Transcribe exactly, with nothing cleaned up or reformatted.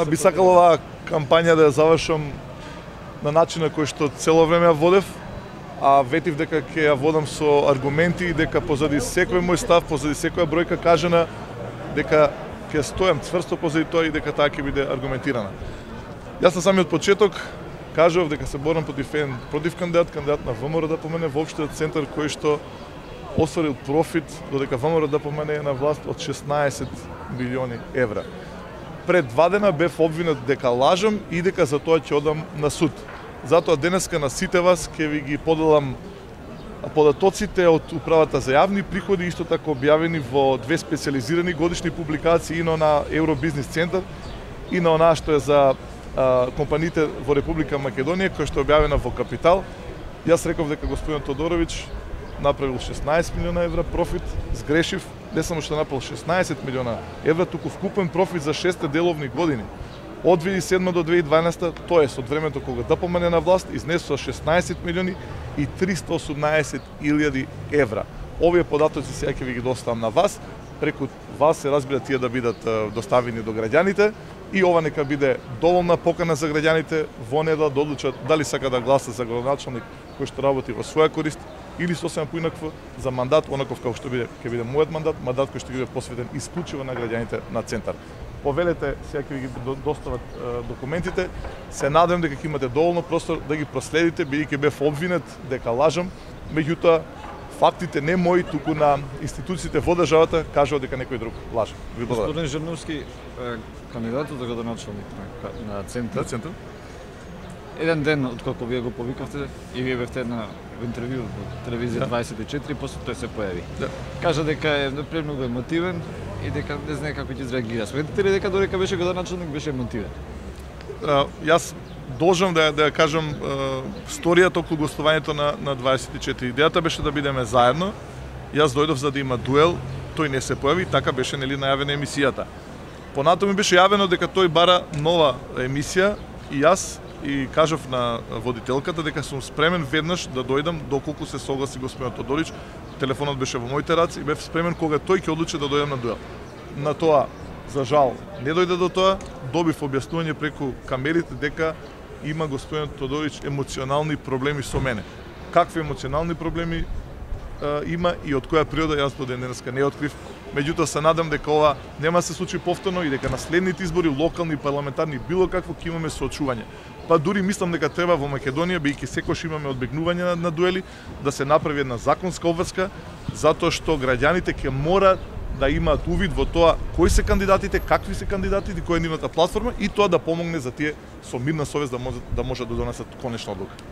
Би сакал оваа кампања да ја завршам на начин на кој што цело време ја водев, а ветив дека ќе ја водам со аргументи и дека позади секој мој став, позади секоја бројка кажана, дека ќе стојам цврсто позади тоа и дека таа ќе биде аргументирана. Јас на самиот почеток кажав дека се борам против еден против кандидат, кандидат на ВМРО да помене во општиот центар кој што осварил профит додека ВМРО да помене е на власт од шеснаесет милиони евра. Пред два дена бев обвинет дека лажам и дека за тоа ќе одам на суд. Затоа денеска на сите вас ќе ви ги поделам податоците од Управата за јавни приходи, исто така објавени во две специализирани годишни публикации, и на Евробизнес центар и на онаа што е за а, компаниите во Република Македонија, која што е објавена во Капитал. Јас реков дека господин Тодорович направил шеснаесет милиона евра профит, сгрешив, не само што направил шеснаесет милиона евра, туку вкупен профит за шест деловни години. Од две илјади и седма до две илјади и дванаесета, тоест од времето кога да помене на власт, изнесува шеснаесет милиони и триста осумнаесет илјади евра. Овие податоци сега ќе ви ги доставам на вас, преку вас се разбира тие да бидат доставени до граѓаните и ова нека биде доволна покана за граѓаните во недела да одлучат дали сака да гласа за градоначалник кој што работи во своја корист или сосема поинакво за мандат, онаков како што биде ќе биде мојот мандат, мандат кој што ќе биде посветен исклучиво на граѓаните на центар. Повелете, сега ќе ви ги достават е, документите. Се надевам дека ќе имате доволно простор да ги проследите, бидејќи бев обвинет дека лажам, меѓутоа фактите не мои, туку на институциите во државата кажуваат дека некој друг лаже. Ви благодарам. Господин Жирновски, кандидатот за градоначалник на, на центар. На центар? Еден ден откако вие го повикавте и вие бевте на интервју во телевизија дваесет и четири, после тој се појави. Да. Кажа дека е премногу емотивен и дека не знае како ќе изреагира. Сметате ли дека додека беше градоначалник беше емотивен? Uh, јас должам да да ја кажам uh, сторијата околу гостувањето на на дваесет и четири. Идејата беше да бидеме заедно. Јас дојдов за да има дуел, тој не се појави, така беше нели најавена емисијата. Понатаму ми беше јавено дека тој бара нова емисија и јас и кажав на водителката дека сум спремен веднаш да дојдам доколку се согласи господин Тодорич. Телефонот беше во моите раце и бев спремен кога тој ќе одлучи да дојдам на дуел. На тоа, за жал, не дојде до тоа, добив објаснување преку камерите дека има господин Тодорич емоционални проблеми со мене. Какви емоционални проблеми е, има и од која природа јас до ден денеска не открив. Меѓутоа се надам дека ова нема да се случи повторно и дека на следните избори, локални, парламентарни, било какво ќе имаме соочување. Па дури мислам дека треба во Македонија, бидејќи секогаш имаме одбегнување на, на дуели, да се направи една законска обврска, затоа што граѓаните ќе мора да имаат увид во тоа кои се кандидатите, какви се кандидатите, која е нивната платформа и тоа да помогне за тие со мирна совест да може да може да донесат конечна одлука.